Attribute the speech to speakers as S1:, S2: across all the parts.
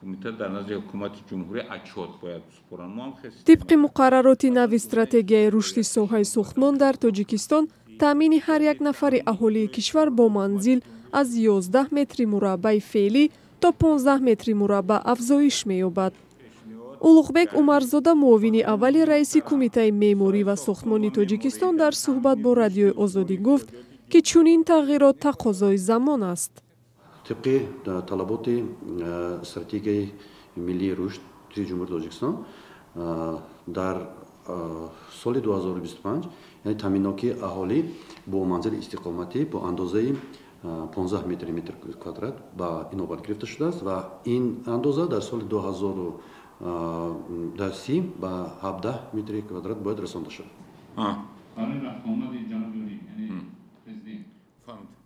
S1: Кумита дар назди ҳукумати ҷумҳурӣ отчёт бояд супоранд. Мо ҳам
S2: Тибқи муқаррароти нави стратегияи рушди соҳаи сохтмон дар Тоҷикистон, таъмини ҳар як нафари аҳолии кишвар бо манзил аз 11 метри мураббаи феълӣ то 15 метри мураббаъ афзоиш меёбад. Улуғбек Умарзода, муовини аввали раиси Кумитаи меъморӣ ва сохтмони Тоҷикистон, дар суҳбат бо Радиои Озодӣ гуфт, ки чунин тағйирот тақозои замон аст.
S3: Тибқи талаботи стратегияи миллии рушди Ҷумҳурии Тоҷикистон дар соли 2025, яъне таъминнокии аҳолӣ бо манзили истиқоматӣ бо андозаи 15 метри квадрат ба инобат гирифта шудааст ва ин андоза дар соли 2030 ба 17 метри квадрат бояд расонда шавад.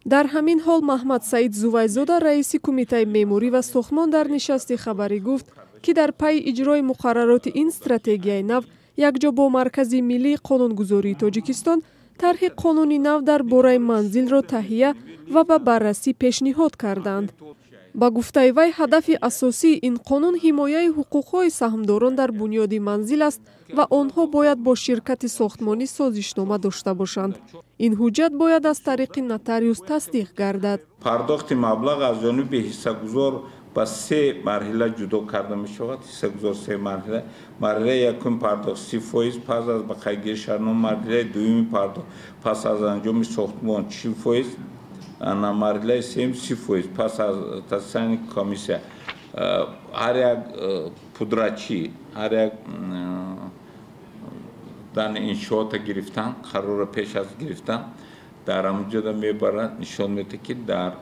S2: Дар ҳамин ҳол Маҳмад Саид Зувайзода, раиси Кумитаи меъморӣ ва сохтмон, дар нишасти хабарӣ гуфт, ки дар пайи иҷрои муқаррароти ин стратегияи нав якҷо бо Маркази миллии қонунгузории Тоҷикистон тарҳи қонуни нав дар бораи манзилро таҳия ва ба баррасӣ пешниҳод карданд. Ба гуфтаи вай, ҳадафи асосии ин қонун ҳимояи ҳуқуқҳои саҳмдорон дар бунёди манзил аст ва онҳо бояд бо ширкати сохтмонӣ созишнома дошта бошанд. Ин ҳуҷҷат бояд аз тариқи нотариус тасдиқ гардад.
S1: Пардохти маблағ аз ҷониби ҳиссагузор ба се марҳила ҷудо карда мешавад. Ҳиссагузор се марҳила. Марҳилаи якум пардохт 30%, пас аз ба қайдгирии шартнома, марҳилаи дуюми пардохт пас аз анҷоми сохтмон 40%, марҳилаи сеюм 30% пас аз тасдиқи комиссия. Ҳар як пудрачӣ, ҳар як дан иншоота гирифтан, қарорро пеш аз гирифтан дар ҳамонҷода мебарад, нишон медиҳад, ки дар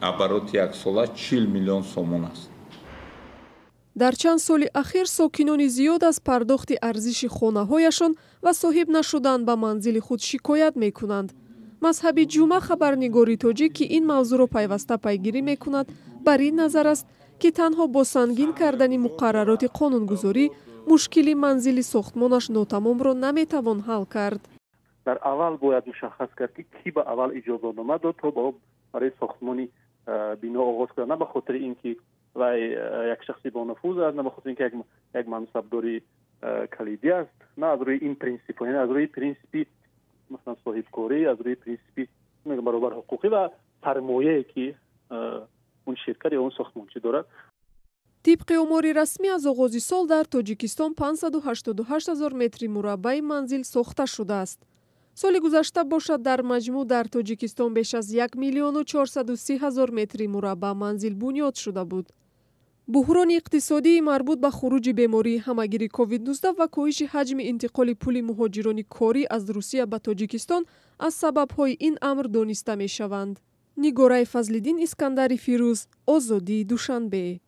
S1: обороти яксола 40 миллион сомон аст.
S2: Дар чанд соли ахир сокинони зиёд аз пардохти арзиши хонаҳояшон ва соҳиб нашудан ба манзили худ шикоят мекунанд. Мазҳаби Ҷума, хабарнигори тоҷик, ки ин мавзӯъро пайваста пайгирӣ мекунад, бар ин назар аст, ки танҳо бо сангин кардани муқаррароти қонунгузорӣ мушкили манзили сохтмонаш нотамомро наметавон ҳал кард.
S4: Дар аввал бояд мушаххас кард, ки кӣ ба аввал иҷозатнома дод, то барои сохтмони бино оғоз кунад, на ба хотири ин ки вай як шахси бонуфуз аст, на ба хотири ин ки як мансабдори калидӣ аст, на аз рӯи ин принсип, яъне аз рӯи принсипи, масалан, соҳибкорӣ, аз рӯи принсипи баробар ҳуқуқӣ ва сармояе, ки он ширкат ё он сохтмончӣ дорад.
S2: Тибқи омори расмӣ, аз оғози сол дар Тоҷикистон 588 ҳазор метри мураббаи манзил сохта шудааст. Соли гузашта бошад, дар маҷмӯъ дар Тоҷикистон беш аз 1 миллиону 430 ҳазор метри мураббаъ манзил бунёд шуда буд. Буҳрони иқтисодии марбут ба хуруҷи бемории ҳамагири COVID-19 ва коҳиши ҳаҷми интиқоли пули муҳоҷирони корӣ аз Русия ба Тоҷикистон аз сабабҳои ин амр дониста мешаванд. Нигораи Фазлиддин, Искандари Фирӯз, Озодӣ, Душанбе.